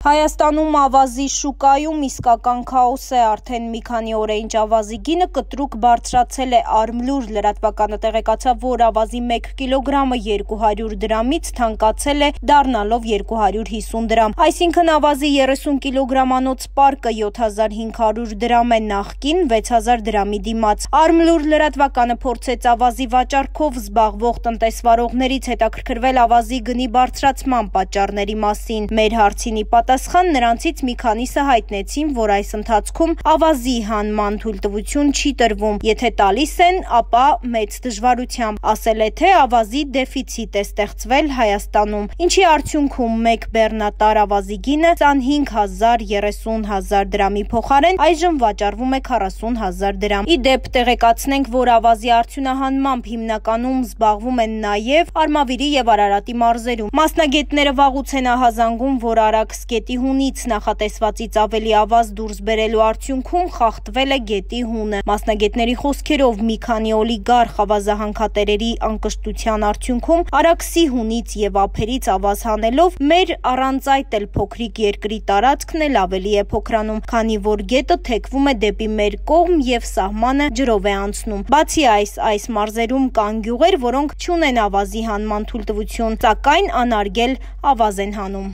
Հայաստանում ավազի շուկայում իսկական քաոս է, արդեն մի քանի օր է ինչ ավազի գինը կտրուկ բարձրացել է, Արմլուր լրատվականը տեղեկացավ, որ ավազի 1 կիլոգրամը 200 դրամից թանկացել է, դառնալով 250 դրամ, այսինքն ավազի 30 կիլոգրամանոց պարկը 7500 դրամ է, նախկին 6000 դրամի դիմաց։ Արմլուր լրատվականը փորձեց ավազի վաճառքով զբաղվող տնտեսվարողներից հետաքրքրվել ավազի գնի բարձրացման պատճառների մասին։ Մեր հարցինի պատասխան նրանցից մի քանիսը հայտնեցին, որ այս ընթացքում ավազի հանման թույլտվություն չի տրվում, եթե տալիս են, ապա մեծ դժվարությամբ, ասել է, թե ավազի դեֆիցիտ է ստեղծվել Հայաստանում, ինչի արդյունքում մեկ բեռնատար ավազի գինը 25000-30000 դրամի փոխարեն այժմ վաճառվում է 40000 դրամ։ Ի դեպ տեղեկացնենք, որ ավազի արդյունահանմամբ հիմնականում զբաղվում են նաև Արմավիրի եւ Արարատի մարզերում։ Մասնագետները վաղուց են ահազանգում, որ Արաքս գետի հունից նախատեսվածից ավելի ավազ դուրս բերելու արդյունքում խախտվել է գետի հունը։ Մասնագետների խոսքերով մի քանի օլիգարխ ավազահանքատերերի անկշտության արդյունքում Արաքսի հունից եւ ափերից ավազ հանելով մեր առանց այդ էլ փոքրիկ երկրի տարածքն էլ ավելի է փոքրանում, քանի որ գետը թեքվում է դեպի մեր կողմ եւ սահմանը ջրով է անցնում։ Բացի այս մարզերում կան գյուղեր, որոնք չունեն ավազի հանման թույլտվություն, սակայն անարգել ավազ են հանում։